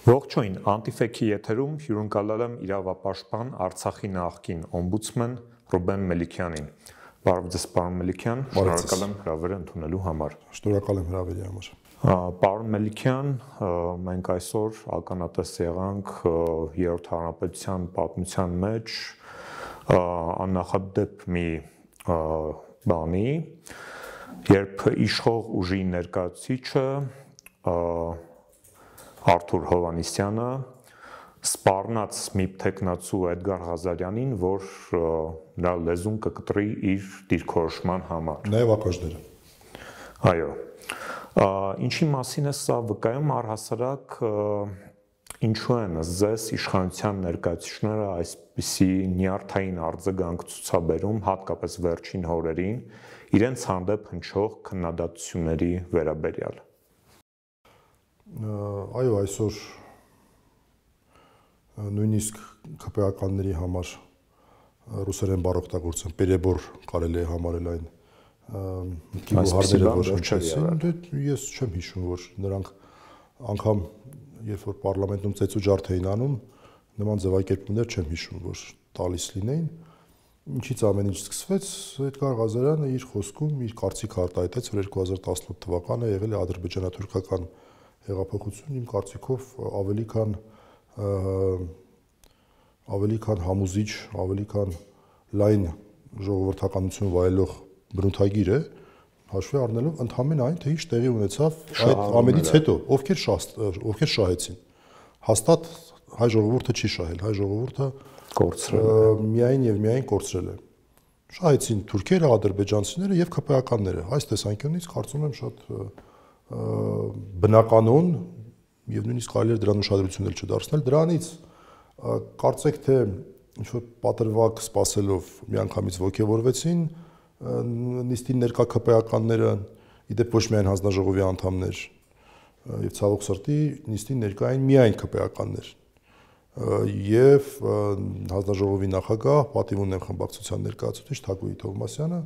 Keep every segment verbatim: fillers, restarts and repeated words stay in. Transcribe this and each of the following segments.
Ողջույն, Անտիֆեքի եթերում հյուրընկալել եմ իրավապաշտպան Արցախի նախկին օմբուդսմեն Ռուբեն Մելիքյանին։ Բարև ձեզ, պարոն Մելիքյան, շնորհակալ եմ հրավերը ընդունելու համար։ Շնորհակալ եմ հրավերի համար։ Պարոն Մելիքյան, մենք այսօր ականատես եղանք Երրորդ հանրապետության պատմության մեջ աննախադեպ մի բանի, երբ իշխող ուժի ներկայացուցիչը Արթուր Հովհաննիսյանը սպառնաց մի թեկնածու Էդգար Ղազարյանին, որ նրա լեզուն կկտրի իր դիրքորոշման համար։ Նաև ակաժները։ Այո։ Ինչի մասին է սա վկայում առհասարակ ինչու են ձեզ իշխանության ներկայացուցիչները այսպիսի նյարդային արձագանք ցուցաբերում, հատկապես վերջին օրերին, իրենց հանդեպ հնչող քննադատությունների վերաբերյալ։ Այո, այսօր նույնիսկ ՔՊԱ-ականների համար ռուսերեն բառ օգտագործեն, պերեբոր կարելի է համարել այն գյուղարները, որ հնչեցին, ես չեմ հիշում, որ նրանք անգամ երբ որ պարլամենտում ծեծու ջարդ էին անում, նման ձևակերպումներ չեմ հիշում, որ տալիս լինեին։ Ինչից ամեն ինչ սկսվեց, Էդգար Ղազարյանը իր խոսքում իր կարծիքը արտահայտեց, որ երկու հազար տասնութ թվականը եղել է ադրբեջանա-թուրքական հեղափոխություն, իմ կարծիքով ավելի քան ավելի քան համոզիչ, ավելի քան լայն ժողովրդականություն վայելող բնութագիր է, հաշվի առնելով ընդհանրեն այն, թե ինչ տեղի ունեցավ այդ ամենից հետո, ովքեր ովքեր շահեցին։ Հաստատ հայ ժողովուրդը չի շահել, հայ ժողովուրդը կորցրել է, միայն եւ միայն կորցրել է։ Շահեցին թուրքերը, ադրբեջանցիները եւ ՔՊԱ-ականները։ Այս տեսանկյունից կարծում եմ շատ բնականon եւ նույնիսկ կարելի է դրան ուշադրություն էլ չդարձնել դրանից կարծեք թե ինչ որ պատրվակ սпасելով միանգամից ողջևորվեցին նիստին ներկա ՔՊԱ-ականները իդեպ ոչ միայն հանձնաժողովի անդամներ եւ ցավոք սրտի նիստին ներկա էին միայն ՔՊԱ-ականներ եւ հանձնաժողովի նախագահ պատիվ ունեմ խմբակցության ներկայացուցիչ Թագուհի Թովմասյանը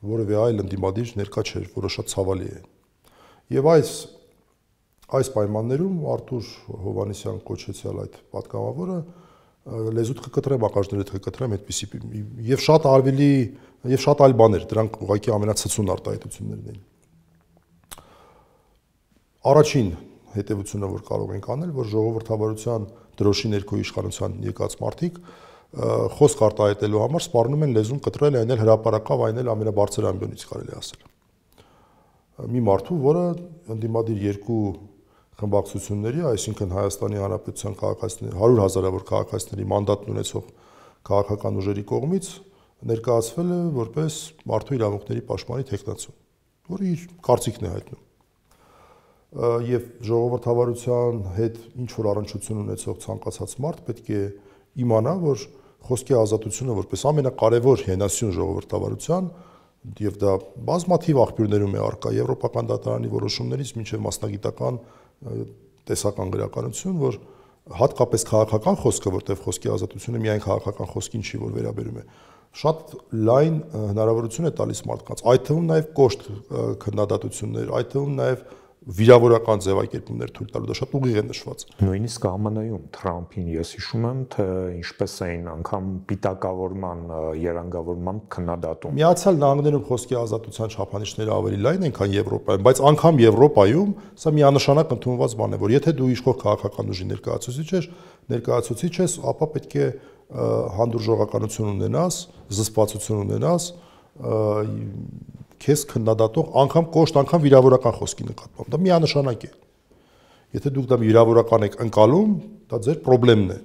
որևէ այլ ընդդիմադիր ներկա չէր, որը շատ ցավալի է։ Եվ այս այս պայմաններում Արթուր Հովհաննիսյան կոչեցյալ այդ պատգամավորը լեզուդ կկտրեմ, ակաժներդ կկտրեմ, այդպիսի եւ շատ ավելի եւ շատ այլ բաներ, դրանք ուղղակի ամենացցուն արտահայտություններն էին։ Առաջին հետևությունը, որ կարող ենք անել, որ ժողովրդավարության դրոշի ներքո իշխանության եկած մարդիկ խոսք արտահայտելու համար սպառնում են լեզուն կտրել, այն էլ հրապարակավ, այն էլ ամենաբարձր ամբիոնից կարելի ասել։ Մի մարդու, որը ընդդիմադիր երկու խմբակցությունների, այսինքն Հայաստանի Հանրապետության քաղաքացիների հարյուր հազարավոր քաղաքացիների մանդատն ունեցող քաղաքական ուժերի կողմից ներկայացվել է որպես մարդու իրավունքների պաշտպանի թեկնածու, որը իր կարծիքն է հայտնում։ Եվ ժողովրդավարության հետ ինչ որ առնչություն ունեցող ցանկացած մարդ պետք է իմանա, որ խոսքի ազատությունը որպես ամենակարևոր հենասյուն ժողովրդավարության եւ դա բազմաթիվ աղբյուրներում է առկա եվրոպական դատարանի որոշումներից մինչեւ մասնագիտական տեսական գրականություն, որ հատկապես քաղաքական խոսքը, որտեղ խոսքի ազատությունը միայն քաղաքական խոսքին չի, որ վերաբերում է, շատ լայն հնարավորություն է տալիս մարդկանց, այդ թվում նաեւ կոշտ քննադատություններ, այդ թվում նաեւ վիրավորական ձևակերպումներ թույլ տալու, դա շատ ուղիղ է նշված։ Նույնիսկ ԱՄՆ-ում Թրամփին ես հիշում եմ, թե ինչպես էին անգամ պիտակավորման, երանգավորման քննադատում։ Միացյալ Նահանգներում խոսքի ազատության չափանիշները ավելի լայն են, քան Եվրոպայում, բայց անգամ Եվրոպայում սա միանշանակ ընդունված բան է, որ եթե դու իշխող քաղաքական ուժի ներկայացուցիչ ես, ներկայացուցիչ ես, ապա պետք է հանդուրժողականություն ունենաս, զսպվածություն ունենաս, քեզ քննադատող անգամ կոշտ, անգամ վիրավորական խոսքի նկատմամբ, դա միանշանակ է։ Եթե դուք դա վիրավորական եք ընկալում, դա ձեր խնդիրն է։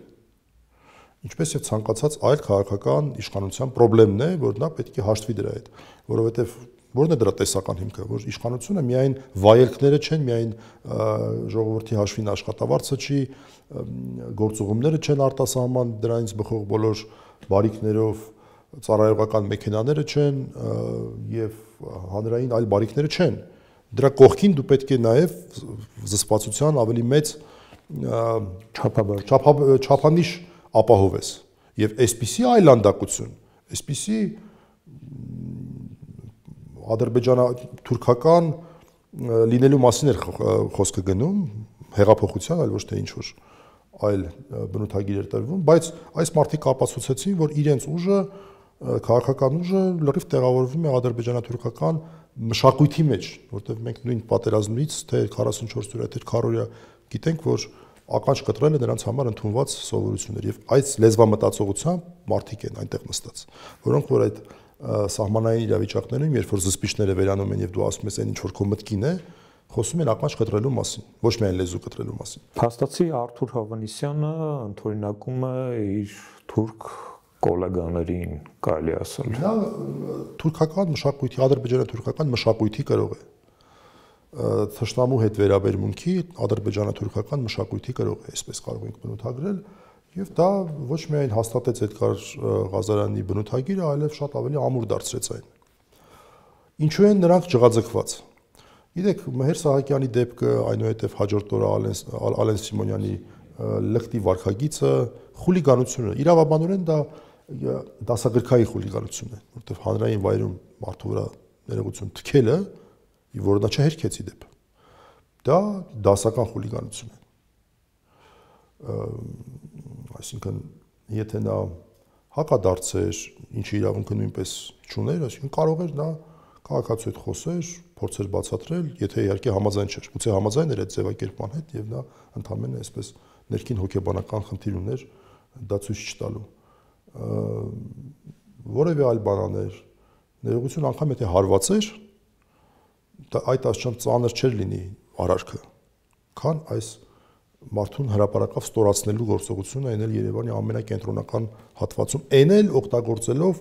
Ինչպես եւ ցանկացած այլ քաղաքական իշխանության խնդիրն է, որ նա պետք է հաշտվի դրա հետ, որովհետեւ որն է դրա տեսական հիմքը, որ իշխանությունը միայն վայելքները չեն, միայն ժողովրդի հաշվին աշխատավարձը չի, գործուղումները չեն արտասահման դրանից բխող բոլոր բարիքներով, ծառայողական մեքենաները չեն եւ հանրային այլ բարիքները չեն։ Դրա կողքին դու պետք է նաեւ զսպվածության ավելի մեծ չափանիշ ապահովես եւ այսպիսի այլանդակություն, այսպիսի ադրբեջանա-թուրքական լինելու մասին էր խոսքը գնում, հեղափոխության, այլ ոչ թե ինչ որ այլ բնութագիր էր տրվում, բայց այս մարդիկ ապացուցեցին, որ իրենց ուժը, քաղաքական ուժը լրիվ տեղավորվում է ադրբեջանա-թուրքական մշակույթի մեջ, որտեղ մենք նույն պատերազմից թե քառասունչորս օրյա թե քառօրյա գիտենք, որ ականջ կտրելը նրանց համար ընդունված սովորություն էր եւ այս լեզվամտածողությամբ մարդիկ են այնտեղ նստած, որոնք որ այդ սահմանային իրավիճակներում, երբ որ զսպիչները վերանում են եւ դու ասում ես այն ինչ որ քո մտքին է, խոսում են ականջ կտրելու մասին, ոչ միայն լեզու կտրելու մասին։ Փաստացի Արթուր Հովհաննիսյանը ընդօրինակում է իր թուրք կոլեգաներին, կարելի ասել։ Նա թուրքական մշակույթի, ադրբեջանա-թուրքական մշակույթի կրող է։ Թշնամու հետ վերաբերմունքի ադրբեջանա-թուրքական մշակույթի կրող է, այսպես կարող ենք բնութագրել, եւ դա ոչ միայն հաստատեց Էդգար Ղազարյանի բնութագիրը, այլև շատ ավելի ամուր դարձրեց այն։ Ինչու են նրանք ջղաձգված։ Գիտեք, Մհեր Սահակյանի դեպքը, այնուհետև հաջորդ օրը Ալեն Սիմոնյանի լկտի վարքագիծը խուլիգանություն է։ Իրավաբանորեն դա դասագրքային խուլիգանություն է, որտեղ հանրային վայրում մարդու վրա ներողություն թքելը, որը նա չհերքեց ի դեպ, դա դասական խուլիգանություն է։ Այսինքն, եթե նա հակադարձեր, ինչի իրավունքը նույնպես չուներ, այսինքն կարող էր նա քաղաքացու հետ խոսեր, փորձեր բացատրել, եթե իհարկե համաձայն չէր։ Գուցե համաձայն էր այդ ձևակերպման հետ եւ նա ընդհանրապես այսպես ներքին հոգեբանական խնդիր ուներ դա ցույց չտալու։ Որևէ այլ բանաներ, ներողություն անգամ եթե հարված էր, դա այդ աստիճան ծանր չէր լինի արարքը, քան այս մարդուն հրապարակավ ստորացնելու գործողությունը այն էլ Երևանի ամենակենտրոնական հատվածում, այն էլ օգտագործելով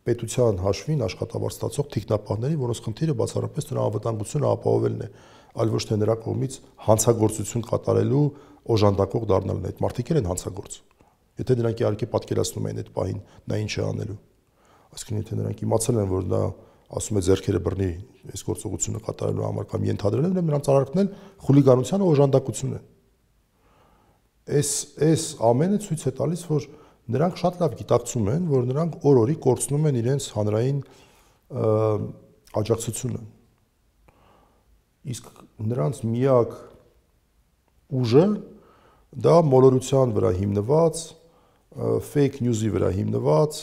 պետության հաշվին աշխատավարձ ստացող թիկնապահների, որոնց խնդիրը բացառապես նրա անվտանգությունը ապահովելն է, այլ ոչ թե նրա կողմից հանցագործություն կատարելու օժանդակող դառնալն է։ Այդ մարդիկ են հանցագործ։ Եթե նրանք իհարկե պատկերացնում են այդ պահին նա ինչ է անելու։ Այսինքն եթե նրանք իմացել են, որ նա ասում է ձեռքերը բռնի այս գործողությունը կատարելու համար կամ ենթադրել են, նրանց արարքն էլ խուլիգանության օժանդակություն է։ Այս այս ամենը ցույց է տալիս, որ նրանք շատ լավ գիտակցում են, որ նրանք օր-օրի կորցնում են իրենց հանրային աջակցությունը։ Իսկ նրանց միակ ուժը դա մոլորության վրա հիմնված, fake news-ի վրա հիմնված,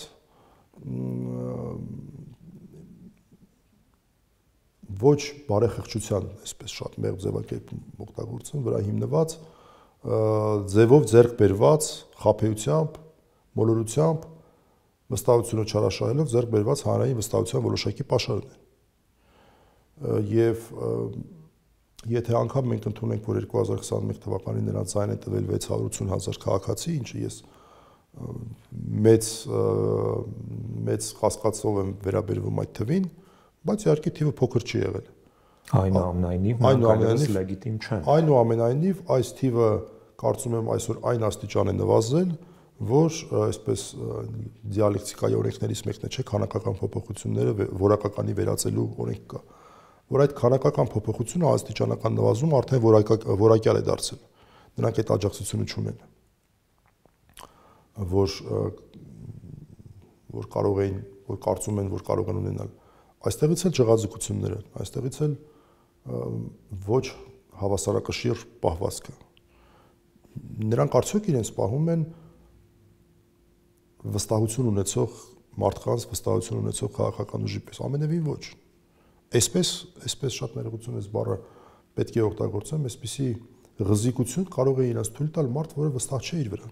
ոչ բարեխղճության, այսպես շատ մեղմ ձևակերպում օգտագործեն, վրա հիմնված ձևով ձեռք բերված խաբեությամբ, մոլորությամբ, վստահությունը չարաշահելով ձեռք բերված հանրային վստահության որոշակի պաշարն է։ Եվ եթե անգամ մենք ընդունենք, որ երկու հազար քսաներկու թվականին նրանց այն է տվել վեց հարյուր ութ հազար քաղաքացի, ինչը ես մեծ մեծ կասկածով եմ վերաբերվում այդ թվին, բայց իհարկե թիվը փոքր չի եղել։ Այնուամենայնիվ, այնուամենայնիվ լեգիտիմ չէ։ Այնուամենայնիվ այս թիվը կարծում եմ այսօր այն աստիճան է նվազել, որ այսպես դիալեկտիկայի օրենքներից մեկն է, չէ, քանակական փոփոխությունները որակականի վերածելու օրենք կա, որ այդ քանակական փոփոխությունը աստիճանական նվազում արդեն որակյալ է դարձել։ Նրանք այդ աջակցությունը չունեն, որ որ կարող էին, որ կարծում են, որ կարող են ունենալ։ Այստեղից էլ ջղաձգությունները, այստեղից էլ ոչ հավասարակշիռ պահվածքը։ Նրանք արդյոք իրենց պահում են վստահություն ունեցող մարդկանց, վստահություն ունեցող քաղաքական ուժի պես, ամենևին ոչ։ Այսպես, այսպես շատ ներողություն ես բառը պետք է օգտագործեմ, այսպիսի ղզիկություն կարող է իրենց թույլ տալ մարդ, որը վստահ չէ իր վրա։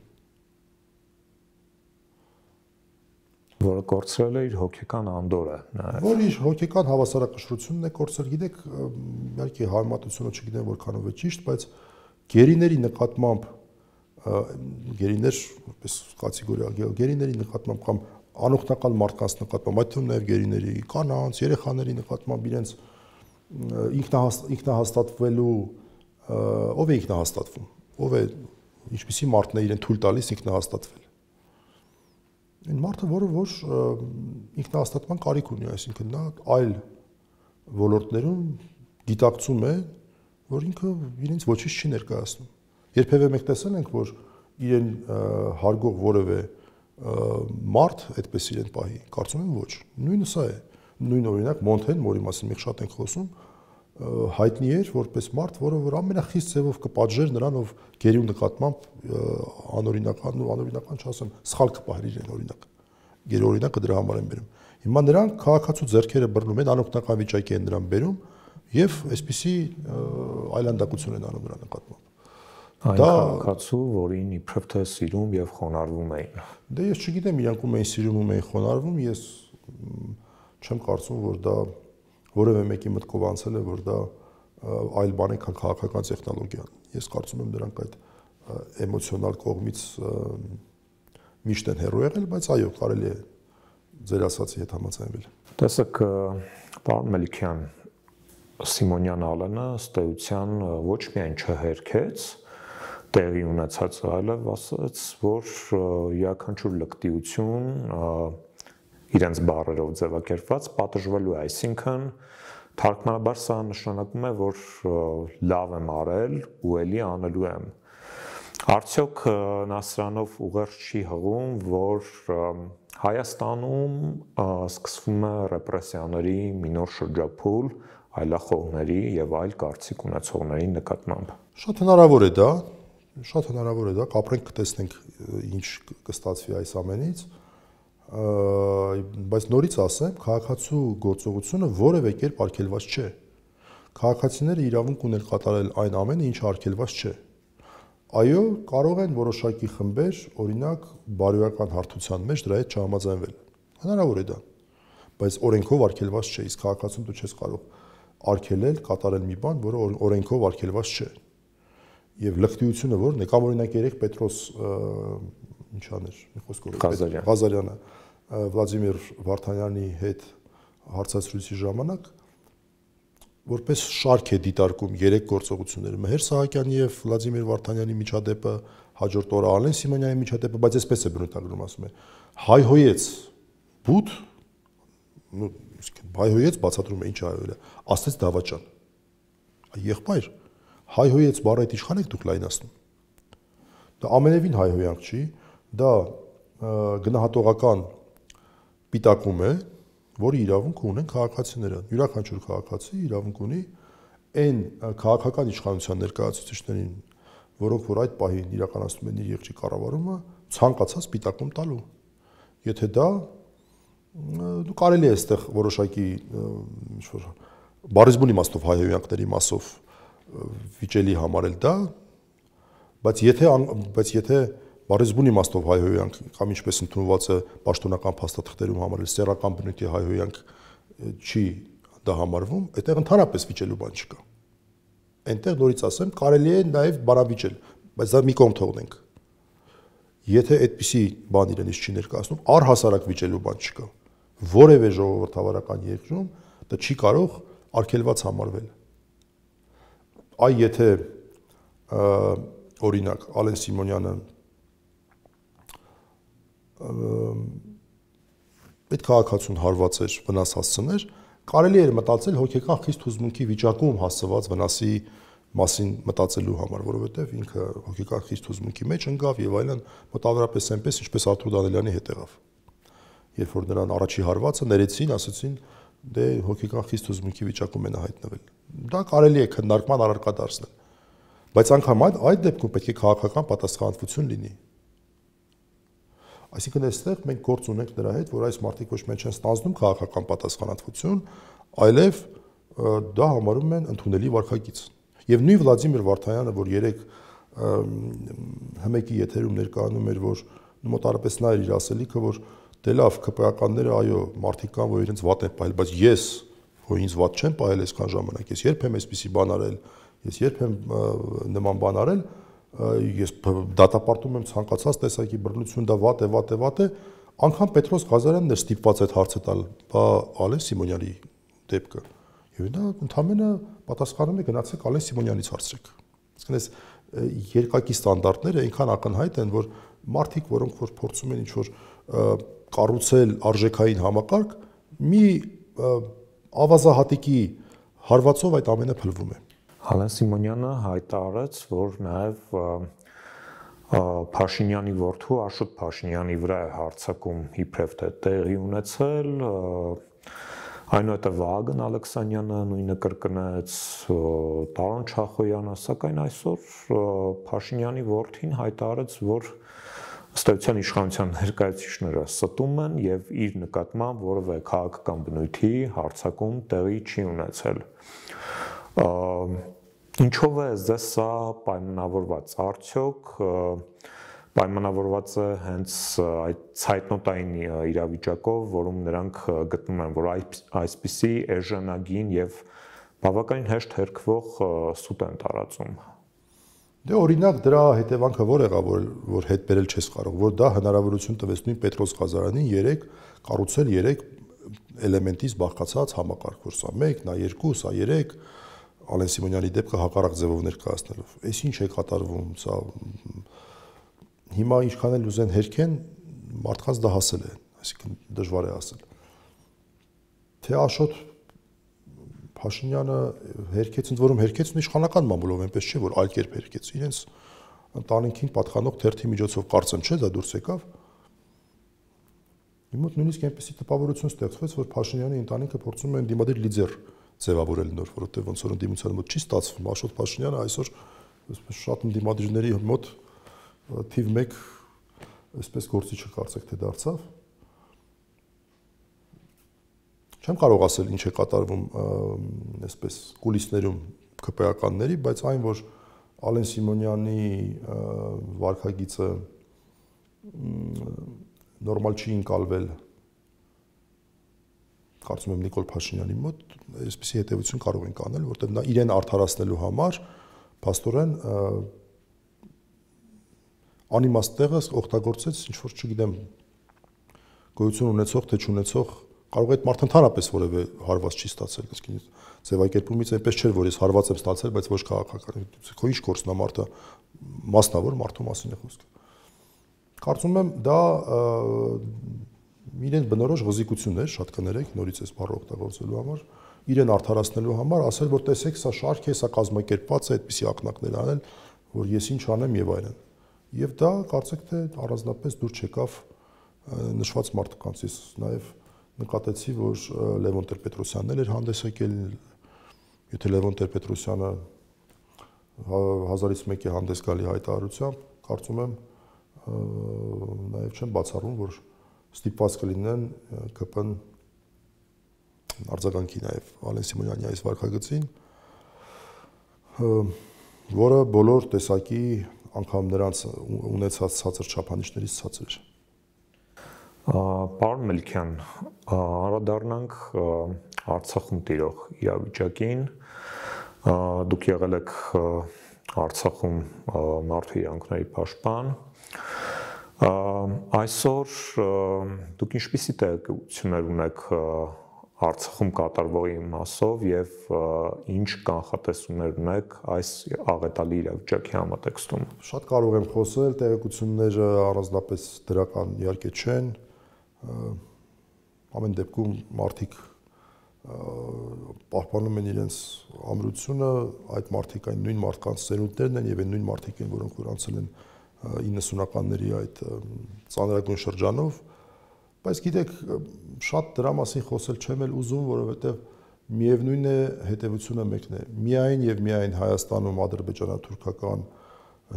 Որը կորցրել է իր հոգեկան անդորը, որ իր հոգեկան հավասարակշռությունն է կորցրել, գիտեք, իհարկե համեմատությունը չգիտեմ որքանով է ճիշտ, բայց գերիների նկատմամբ գերիներ, որպես կատեգորիա, գերիների նկատմամբ կամ անօգնական մարդկանց նկատմամբ, այդ թվում նաև գերիների, կանանց, երեխաների նկատմամբ իրենց ինքնահաստատվելու, ով է ինքնահաստատվում, ով է, ինչպիսի մարդն է իրեն թույլ տալիս ինքնահաստատվել։ Այն մարդը, որը որ ինքնահաստատման կարիք ունի, այսինքն նա այլ ոլորտներում գիտակցում է, որ ինքը իրենց ոչինչ չի ներկայացնում։ Երբևէ մենք տեսել ենք, որ իրեն հարգող որևէ մարդ այդպես իրեն պահի, կարծում եմ ոչ։ Նույնը սա է։ Նույն օրինակ Մոնթեն, որի մասին մենք շատ ենք խոսում, հայտնի էր որպես մարդ, որը որ ամենախիստ ձևով կպատժեր նրան, ով գերու նկատմամբ անօրինական ու անօրինական չասեմ, սխալ կպահեր իրեն օրինակ։ Գերու օրինակը դրա համար են բերում։ Հիմա նրանք քաղաքացու ձեռքերը բռնում են, անօգնական վիճակի են նրան բերում եւ այսպիսի այլանդակություն են անում նրա նկատմամբ։ Այն քաղաքացու, որին իբրև թե սիրում եւ խոնարհվում էին։ Դե ես չգիտեմ, իրանք ում էին սիրում, ում էին խոնարհվում, ես չեմ կարծում, որ դա որևէ մեկի մտքով անցել է, որ դա այլ բան է, քան քաղաքական տեխնոլոգիան։ Ես կարծում եմ դրանք այդ էմոցիոնալ կողմից միշտ են հեռու եղել, բայց այո, կարելի է ձեր ասածի հետ համաձայնվել։ Տեսեք, պարոն Մելիքյան, Սիմոնյան Ալենը ըստ էության ոչ միայն չհերքեց տեղի ունեցած, այլև ասաց, որ յուրաքանչյուր լկտիություն իրենց բառերով ձևակերպված պատժվելու է, այսինքն թարգմանաբար սա նշանակում է, որ լավ եմ արել ու էլի անելու եմ։ Արդյոք նա սրանով ուղերձ չի հղում, որ Հայաստանում սկսվում է ռեպրեսիաների մի նոր շրջափուլ այլախոհների եւ այլ կարծիք ունեցողների նկատմամբ։ Շատ հնարավոր է դա, շատ հնարավոր է դա, կապրենք կտեսնենք ինչ կստացվի այս ամենից, բայց նորից ասեմ, քաղաքացու գործողությունը որևէ կերպ արգելված չէ։ Քաղաքացիները իրավունք ունեն կատարել այն ամենը, ինչը արգելված չէ։ Այո, կարող են որոշակի խմբեր, օրինակ, բարոյական հարթության մեջ դրա հետ չհամաձայնվել։ Հնարավոր է դա, բայց օրենքով արգելված չէ, իսկ քաղաքացուն դու չես կարող արգելել, կատարել մի բան, որը օրենքով արգելված չէ։ Եվ լկտիությունը որն է, կամ օրինակ երեք Պետրոս ինչ աներ, մի խոսքով Ղազարյանը Վլադիմիր Վարդանյանի հետ հարցազրույցի ժամանակ որպես շարք է դիտարկում երեք գործողությունները՝ Մհեր Սահակյանի եւ Վլադիմիր Վարդանյանի միջադեպը, հաջորդ օրը Ալեն Սիմոնյանի միջադեպը, բայց այսպես է բնութագրում, ասում է, հայհոյեց բութ, ну, հայհոյեց բացատրում է ինչ հայհոյել է, ասեց դավաճան։ Եղբայր, հայհոյեց բառը այդ իշխան եք դուք լայնացնում։ Դա ամենևին հայհոյանք չի, դա գնահատողական պիտակում է, որի իրավունք ունեն քաղաքացիները։ Յուրաքանչյուր քաղաքացի իրավունք ունի այն քաղաքական իշխանության ներկայացուցիչներին, որոնք որ այդ պահին իրականացնում են իր եղջի կառավարումը, ցանկացած պիտակում տալու։ Եթե դա դու կարելի է այստեղ որոշակի ինչ որ բառիզբուն իմաստով հայհոյանքների մասով վիճելի համարել դա, բայց եթե բայց եթե բառիզբուն իմաստով հայհոյանք կամ ինչպես ընդունված է պաշտոնական փաստաթղթերում համարել սեռական բնույթի հայհոյանք չի դա համարվում, այդտեղ ընդհանրապես վիճելու բան չկա։ Այնտեղ նորից ասեմ, կարելի է նաև բանավիճել, բայց դա մի կողմ թողնենք։ Եթե այդպիսի բան իրենից չի ներկայացնում, առհասարակ վիճելու բան չկա։ Որևէ ժողովրդավարական երկրում դա չի կարող արգելված համարվել։ Այ եթե օրինակ Ալեն Սիմոնյանը այդ քաղաքացուն հարված էր, վնաս հասցներ, կարելի էր մտածել հոգեկան խիստ հուզմունքի վիճակում հասցված վնասի մասին մտածելու համար, որովհետև ինքը հոգեկան խիստ հուզմունքի մեջ ընկավ եւ այլն, մոտավորապես այնպես, ինչպես Արթուր Դանիելյանի հետ եղավ։ Երբ որ նրան առաջի հարվածը ներեցին, ասացին, դե հոգեկան խիստ հուզմունքի վիճակում է նա հայտնվել։ Դա կարելի է քննարկման առարկա դարձնել։ Բայց անգամ այդ այդ դեպքում պետք է քաղաքական պատասխանատվություն լինի։ Այսինքն այստեղ մենք գործ ունենք նրա հետ, որ այս մարդիկ ոչ միայն չեն ստանձնում քաղաքական պատասխանատվություն, այլև դա համարում են ընդունելի վարքագիծ։ Եվ նույն Վլադիմիր Վարդանյանը, որ երեք հմեկի եթերում ներկայանում էր, որ մոտարապես նա էր իր ասելիքը, որ դե լավ, ԿՊԱ-ականները այո, մարդիկ կան, որ իրենց վատ են պահել, բայց ես, որ ինձ վատ չեմ պահել այսքան ժամանակ, ես երբ եմ այսպիսի բան արել, ես երբ եմ նման բան արել, ես դատապարտում եմ ցանկացած տեսակի բռնություն, դա վատ է, վատ է, վատ է, անգամ Պետրոս Ղազարյանն էր ստիպված այդ հարցը տալ, բա Ալեն Սիմոնյանի դեպքը։ Եվ նա ընդամենը պատասխանում է գնացեք Ալեն Սիմոնյանից հարցրեք։ Իսկն այս երկակի ստանդարտները այնքան ակնհայտ են, որ մարդիկ, որոնք որ փորձում են ինչ-որ կառուցել արժեքային համակարգ, մի ավազահատիկի հարվածով այդ ամենը փլվում է։ Ալեն Սիմոնյանը հայտարարեց, որ նաև Փաշինյանի որդու Աշոտ Փաշինյանի վրա է հարձակում իբրև թե տեղի ունեցել, Այնուհետև Վահագն Ալեքսանյանը նույնը կրկնեց, Տարոն Չախոյանը, սակայն այսօր Փաշինյանի որդին հայտարարեց, որ ըստ էության իշխանության ներկայացուցիչները ստում են եւ իր նկատմամբ որևէ քաղաքական բնույթի հարձակում տեղի չի ունեցել։ Ինչով է ձեզ սա պայմանավորված, արդյոք պայմանավորված է հենց այդ ցայտնոտային իրավիճակով, որում նրանք գտնում են, որ այսպիսի էժանագին եւ բավականին հեշտ հերկվող սուտ են տարածում։ Դե օրինակ դրա հետևանքը ո՞ր եղավ, որ որ հետ բերել չես կարող, որ դա հնարավորություն տվեց նույն Պետրոս Ղազարանին երեք կառուցել երեք էլեմենտից բաղկացած համակարգ, որ սա մեկ, նա երկու, սա երեք, Ալեն Սիմոնյանի դեպքը հակառակ ձևով ներկայացնելով։ Այս ինչ է կատարվում, սա հիմա ինչքան էլ ուզեն հերքեն, մարդկանց դա հասել է, այսինքն դժվար է ասել։ Թե Աշոտ Փաշինյանը հերքեց, ընդ որում հերքեց իշխանական մամուլով, այնպես չէ, որ այլ կերպ հերքեց, իրենց ընտանիքին պատկանող թերթի միջոցով կարծեմ չէ, դա դուրս եկավ։ Իմ մոտ նույնիսկ այնպեսի տպավորություն ստեղծվեց, որ Փաշինյանի ընտանիքը փորձում են դիմադիր լիդեր ձևավորել նոր, որովհետև ոնց որ ընդդիմության մոտ չի ստացվում, Աշոտ Փաշինյանը այսօր այսպես շատ ընդդիմադիրների մոտ թիվ մեկ այսպես գործիչը կարծեք թե դարձավ։ Չեմ կարող ասել ինչ է կատարվում այսպես կուլիսներում ԿՊԱ-ականների, բայց այն որ Ալեն Սիմոնյանի վարքագիծը նորմալ չի ընկալվել, կարծում եմ Նիկոլ Փաշինյանի մոտ, այսպիսի հետևություն կարող ենք անել, որտեղ նա իրեն արդարացնելու համար փաստորեն անիմաստ տեղը օգտագործեց ինչ որ չգիտեմ գոյություն ունեցող թե չունեցող կարող է այդ մարդը ընդհանրապես որևէ հարված չի ստացել, այսինքն ձևակերպումից այնպես չէր, որ ես հարված եմ ստացել, բայց ոչ քաղաքական։ Քո ինչ գործն է մարդը մասնավոր մարդու մասին է խոսքը։ Կարծում եմ դա իրեն բնորոշ ղզիկություն էր, շատ կներեք, նորից այս բառը օգտագործելու համար, իրեն արդարացնելու համար ասել, որ տեսեք, սա շարք է, սա կազմակերպված է, այդպիսի ակնարկներ անել, որ ես ինչ անեմ եւ այլն։ Եվ դա կարծեք թե առանձնապես դուր չեկավ նշված մարդկանց, ես նաեւ նկատեցի, որ Լևոն Տեր-Պետրոսյանն էր հանդես եկել, եթե Լևոն Տեր-Պետրոսյանը հազարից մեկ է հանդես գալի հայտարարությամբ, կարծում եմ նաև չեմ բացառում, որ ստիպված կլինեն ԿՊ-ն արձագանքի նաև Ալեն Սիմոնյանի այս վարքագծին, որը բոլոր տեսակի անգամ նրանց ունեցած ցածր չափանիշներից ցածր էր։ Պարոն Մելիքյան, անդրադառնանք Արցախում տիրող իրավիճակին։ Դուք եղել եք Արցախում մարդու իրավունքների պաշտպան։ Այսօր դուք ինչպիսի տեղեկություններ ունեք Արցախում կատարվողի մասով եւ ինչ կանխատեսումներ ունեք այս աղետալի իրավիճակի համատեքստում։ Շատ կարող եմ խոսել, տեղեկությունները առանձնապես դրական իհարկե չեն։ Ամեն դեպքում մարդիկ պահպանում են իրենց ամրությունը, այդ մարդիկ այն նույն մարդկանց ծերունդներն են եւ այն նույն մարդիկ են, որոնք որ անցել են իննսունականների այդ ծանրագույն շրջանով, բայց գիտեք, շատ դրա մասին խոսել չեմ էլ ուզում, որովհետեւ միևնույն է հետևությունը մեկն է։ Միայն եւ միայն Հայաստանում ադրբեջանա-թուրքական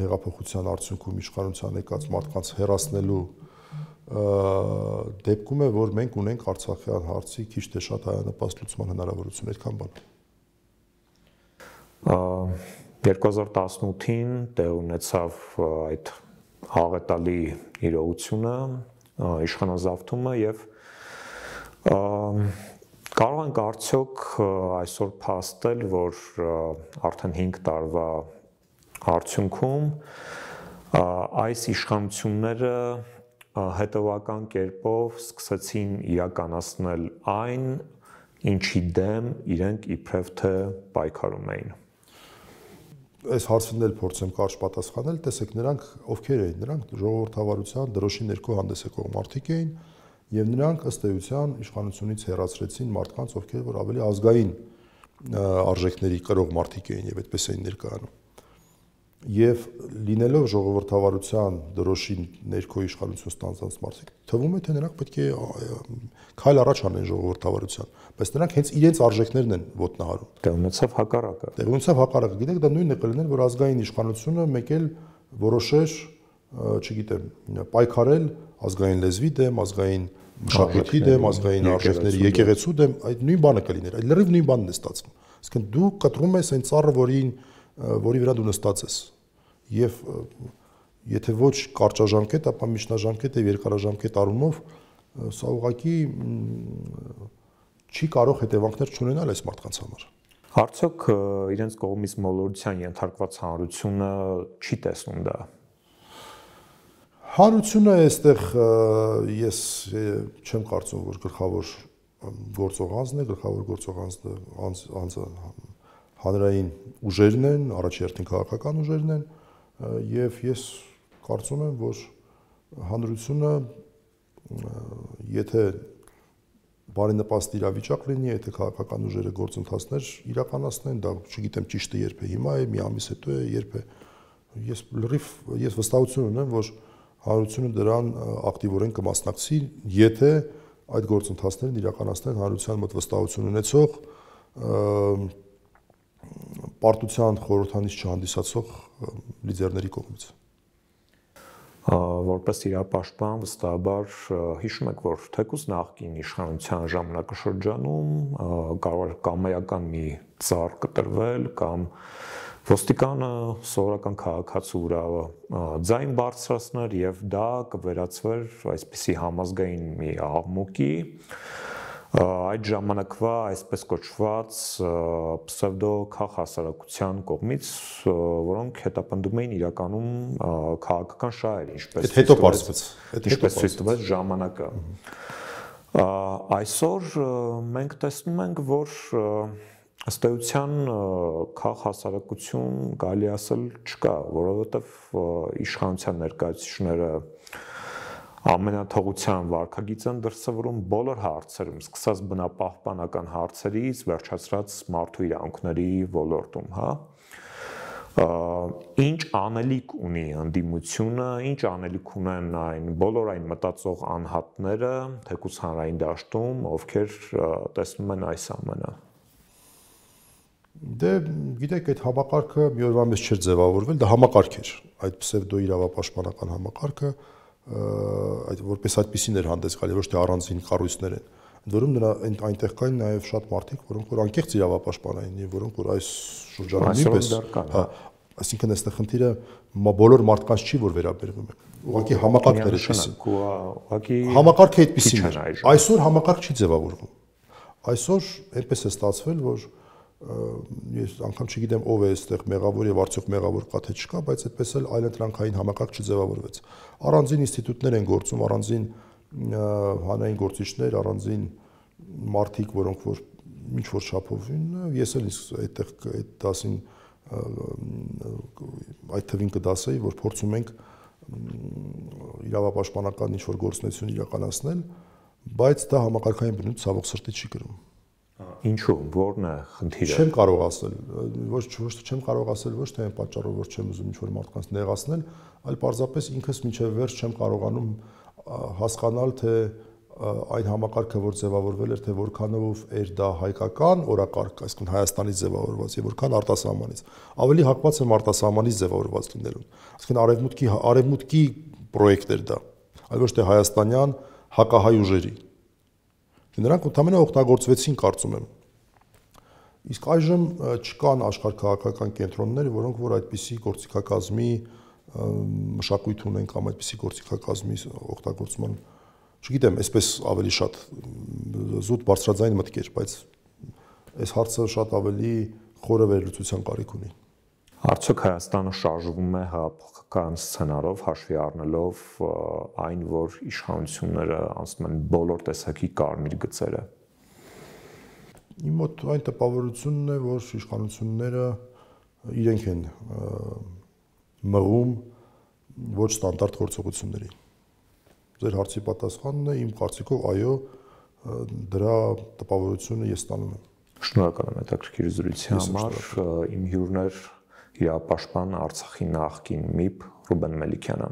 հեղափոխության արդյունքում իշխանության եկած մարդկանց հերացնելու դեպքում է, որ մենք ունենք Արցախյան հարցի քիչ թե շատ հայանպաստ լուծման հնարավորություն, այդքան բան։ երկու հազար տասնութին տեղ ունեցավ այդ աղետալի իրողությունը, իշխանազավթումը եւ կարող ենք արդյոք այսօր փաստել, որ արդեն հինգ տարվա արդյունքում այս իշխանությունները հետևական կերպով սկսեցին իրականացնել այն, ինչի դեմ իրենք իբրև թե պայքարում էին։ Այս հարցին էլ փորձեմ կարճ պատասխանել, տեսեք, նրանք ովքեր էին, նրանք ժողովրդավարության դրոշի ներքո հանդես եկող մարդիկ էին, եւ նրանք ըստ էության իշխանությունից հեռացրեցին մարդկանց, ովքեր որ ավելի ազգային արժեքների կրող մարդիկ էին եւ այդպես էին ներկայանում։ Եվ լինելով ժողովրդավարության դրոշի ներքո իշխանություն ստանձնած մարդիկ, թվում է թե նրանք պետք է քայլ առաջ անեն ժողովրդավարության, բայց նրանք հենց իրենց արժեքներն են ոտնահարում։ Դե ունեցավ հակառակը։ Դե ունեցավ հակառակը։ Գիտեք, դա նույնն է կլիներ, որ ազգային իշխանությունը մեկ էլ որոշեր, չգիտեմ, պայքարել ազգային լեզվի դեմ, ազգային մշակույթի դեմ, ազգային արժեքների եկեղեցու դեմ, այդ նույն բանը կլիներ։ Այդ լրիվ նույն բանն է ստացվում։ Այսինքն դու կտրում ես այն ծառը, որին որի վրա դու նստած ես։ Եվ եթե ոչ կարճաժամկետ, ապա միջնաժամկետ եւ երկարաժամկետ առումով սա ուղղակի չի կարող հետևանքներ չունենալ այս մարդկանց համար։ Արդյոք իրենց կողմից մոլորության ենթարկված հանրությունը չի տեսնում դա։ Հանրությունը այստեղ ես չեմ կարծում, որ գլխավոր գործող անձն է, գլխավոր գործող անձը հանրային ուժերն են, առաջերտին քաղաքական ուժերն են, եւ ես կարծում եմ, որ հանրությունը եթե բարենպաստ իրավիճակ լինի, եթե քաղաքական ուժերը գործընթացներ իրականացնեն, դա չգիտեմ ճիշտը երբ է հիմա է, մի ամիս հետո է, երբ է, ես լրիվ ես վստահություն ունեմ, որ հանրությունը դրան ակտիվորեն կմասնակցի, եթե այդ գործընթացներն իրականացնեն հանրության մոտ վստահություն ունեցող պարտության խորհրդանիշ չհանդիսացող լիդերների կողմից։ Որպես իրապաշտպան վստահաբար հիշում եք, որ թեկուզ նախկին իշխանության ժամանակաշրջանում կարող էր կամայական մի ծառ կտրվել կամ ոստիկանը սովորական քաղաքացու վրա ձայն բարձրացներ եւ դա կվերածվեր այսպիսի համազգային մի աղմուկի այդ ժամանակվա այսպես կոչված պսևդո քաղաքասարակության կողմից, որոնք հետապնդում էին իրականում քաղաքական շահեր, ինչպես հետո պարզվեց, ինչպես ցույց տվեց ժամանակը։ Այսօր մենք տեսնում ենք, որ ըստ էության քաղաքասարակություն կարելի ասել չկա, որովհետև իշխանության ներկայացուցիչները ամենաթողության վարքագիծ են դրսևորում բոլոր հարցերում, սկսած բնապահպանական հարցերից, վերջացրած մարդու իրավունքների ոլորտում, հա։ Ինչ անելիք ունի ընդդիմությունը, ինչ անելիք ունեն այն բոլոր այն մտածող անհատները, թեկուզ հանրային դաշտում, ովքեր տեսնում են այս ամենը։ Դե գիտեք, այդ համակարգը մի օրվա մեջ չէր ձևավորվել, դա համակարգ էր, այդ պսևդո իրավապաշտպանական համակարգը այդ որպես այդպեսին էր հանդես գալի, ոչ թե առանձին կառույցներ են։ Ընդ որում նրա այնտեղ կային նաև շատ մարդիկ, որոնք որ անկեղծ իրավապաշտպան էին եւ որոնք որ այս շրջանում նույնպես, հա, այսինքն այստեղ խնդիրը բոլոր մարդկանց չի, որ վերաբերվում են։ Ուղղակի համակարգն էր այդպեսին։ Ուղղակի համակարգը այդպեսին էր։ Այսօր համակարգ չի ձևավորվում։ Այսօր այնպես է ստացվել, որ ես անգամ չգիտեմ ով է այստեղ մեղավոր եւ արդյոք մեղավոր կա թե չկա, բայց այդպես էլ այլընտրանքային համակարգ չձևավորվեց։ Առանձին ինստիտուտներ են գործում, առանձին հանրային գործիչներ, առանձին մարդիկ, որոնք որ ինչ որ չափով ես էլ այդտեղ այդ դասին այդ թվին կդասեի, որ փորձում ենք իրավապաշտպանական ինչ որ գործունեություն իրականացնել, բայց դա համակարգային բնույթ ցավոք սրտի չի կրում։ Ինչու՞, ո՞րն է խնդիրը։ Չեմ կարող ասել, ոչ ոչ չեմ կարող ասել ոչ թե այն պատճառով, որ չեմ ուզում ինչ-որ մարդկանց նեղացնել, այլ պարզապես ինքս միջև վերջ չեմ կարողանում հասկանալ, թե այն համակարգը, որ ձևավորվել էր, թե որքանով էր դա հայկական օրակարգ, այսինքն Հայաստանից ձևավորված եւ որքան արտասահմանից։ Ավելի հակված եմ արտասահմանից ձևավորված լինելուն։ Այսինքն արևմուտքի արևմուտքի պրոյեկտ էր դա, այլ ոչ թե հայաստանյան հակահայ ուժերի։ Նրանք ընդհանրապես օգտագործվեցին, կարծում եմ։ Իսկ այժմ չկան աշխարհքաղաքական կենտրոններ, որոնք որ այդպիսի գործիքակազմի մշակույթ ունեն կամ այդպիսի գործիքակազմի օգտագործման, չգիտեմ, այսպես ավելի շատ զուտ բարձրաձայն մտքեր, բայց այս հարցը շատ ավելի խորը վերլուծության կարիք ունի։ Արդյոք Հայաստանը շարժվում է հեղափոխական սցենարով, հաշվի առնելով այն, որ իշխանությունները անցնում են բոլոր տեսակի կարմիր գծերը։ Իմ մոտ այն տպավորությունն է, որ իշխանությունները իրենք են մղում ոչ ստանդարտ գործողությունների։ Ձեր հարցի պատասխանն է, իմ կարծիքով, այո, դրա տպավորությունը ես ստանում եմ։ Շնորհակալ եմ հետաքրքիր զրույցի համար, իմ հյուրներ իրապաշտպան Արցախի նախկին ՄԻՊ Ռուբեն Մելիքյանը։